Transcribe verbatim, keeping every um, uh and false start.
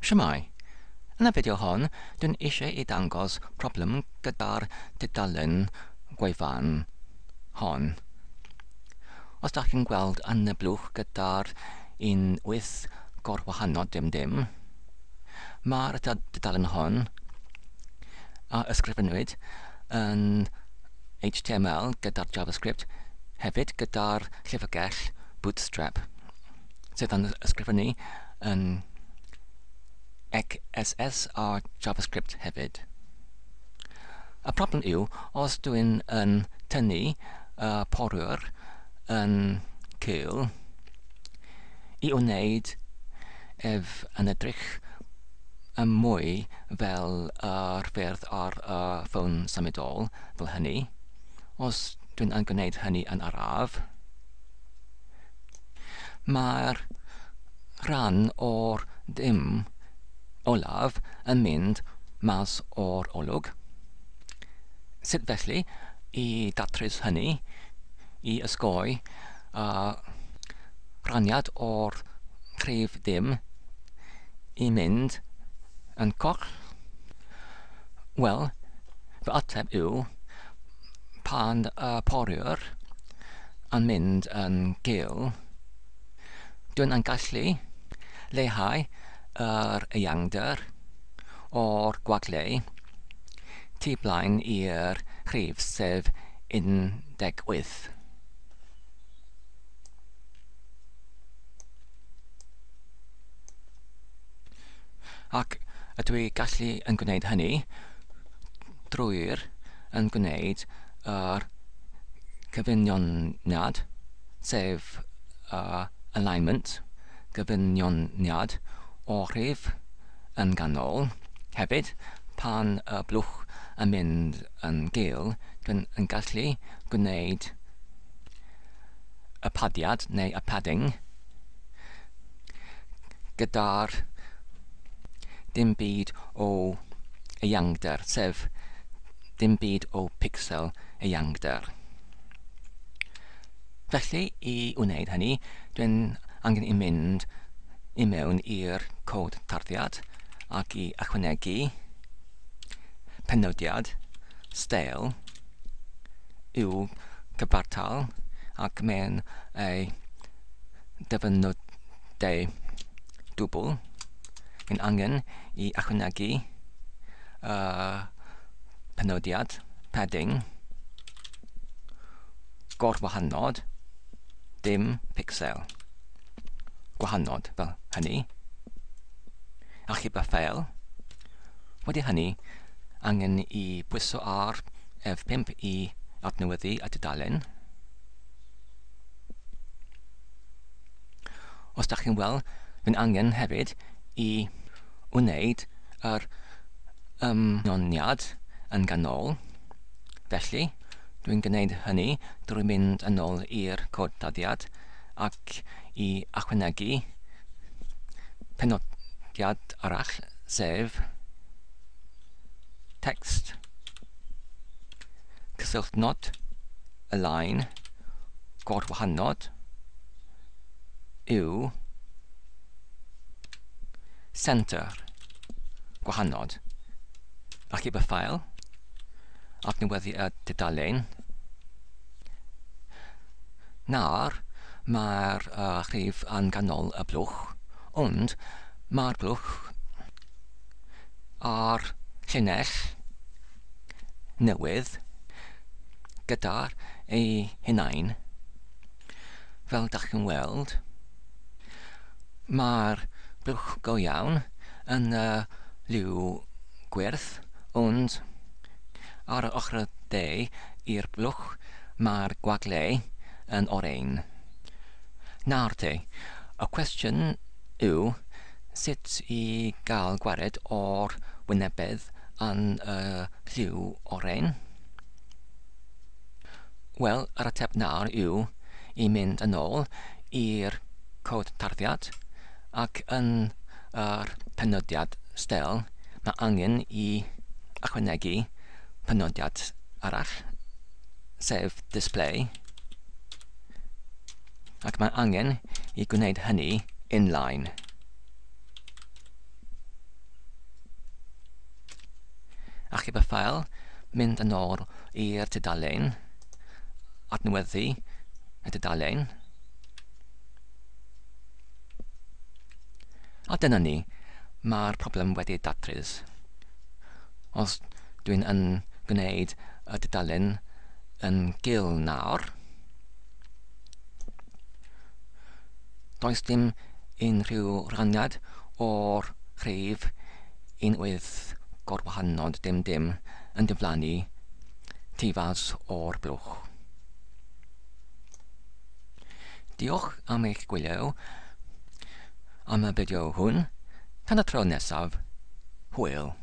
Shwmae! Yn y fideo hon, dwi'n eisiau i dangos problem gyda'r tudalen gwefan hon. Os dach chi'n gweld yn y blwch gyda'r un wyth gorwahanol dim dim, mae'r tudalen hon a ysgrifennwyd yn H T M L gyda'r JavaScript, hefyd gyda'r llyfrgell Bootstrap, sydd yn ysgrifennu yn X S S a JavaScript hefyd. Y problem yw, os dwi'n yn tynnu y porwr yn cul i wneud ef yn edrych yn mwy fel yr ffyrdd ar y ffôn symudol fel hynny, os dwi'n yn gwneud hynny yn araf, mae'r rhan o'r dim olaf yn mynd mas o'r olwg. Sut felly i datrys hynny, i ysgoi uh, rhaniad o'r rhif dim i mynd yn coll? Wel, fy ateb yw pan y porwr yn mynd yn gul, dwi'n yn gallu leihau yr eangder o'r gwagle tu blaen i'r rhif, sef un deg wyth. Ac ydw i gallu yn gwneud hynny drwy'r yn gwneud yr cyfunioniad, sef uh, alignment, gyfunioniad o'r rhif yn ganol. Hefyd, pan y blwch yn mynd yn gul, dwi'n yn gallu gwneud y padiad neu y padding gyda'r dim byd o eangder, sef dim byd o pixel eangder. Felly, i wneud hynny, dwi'n angen i mynd i mewn i'r cod tarddiad ac i ychwanegu penodiad style i'w cyfartal ac mewn ei dyfynodau dwbl. Mae'n angen i ychwanegu uh, penodiad padding gorwahanod dim pixel gwahanod fel hynny. Achub y ffeil. Wedi hynny, angen i bwyso ar F pump i adnewyddu y tudalen. Os dach chi'n weld, mae'n angen hefyd i wneud yr ymyniad yn ganol. Felly, dwi'n gwneud hynny drwy mynd yn ôl i'r cod tarddiad ac i ychwanegu penodiad arall, sef text cysylltnod align gorwahanod yw center gwahanod. Achub y ffael, adnewyddu y tudalen. Nawr, mae'r uh, rhif yn ganol y blwch, ond mae'r blwch ar llinell newydd gyda'r ei hunain. Fel dach chi'n weld, mae'r blwch go iawn yn y liw gwyrdd, ond ar y ochr dde i'r blwch mae'r gwagle yn oren. Nawr te, y cwestiwn yw sut i gael gwared o'r wynebedd yn y lliw oren? Wel, yr ateb nawr yw i mynd yn ôl i'r cod tarddiad ac yn yr penodiad style mae angen i ychwanegu penodiad arall, sef display, ac mae angen i gwneud hynny inline. Achub y ffael, mynd yn ôl i'r tudalen, adnewyddu y tudalen. A dyna ni, mae'r problem wedi datrys. Os dwi'n yn gwneud y tudalen yn gul nawr, does dim unrhyw raniad o'r rhif un wyth gorwahanod dim dim yn diflannu tu fas o'r blwch. Diolch am eich gwylio am y fideo hwn. Tan y tro nesaf, hwyl!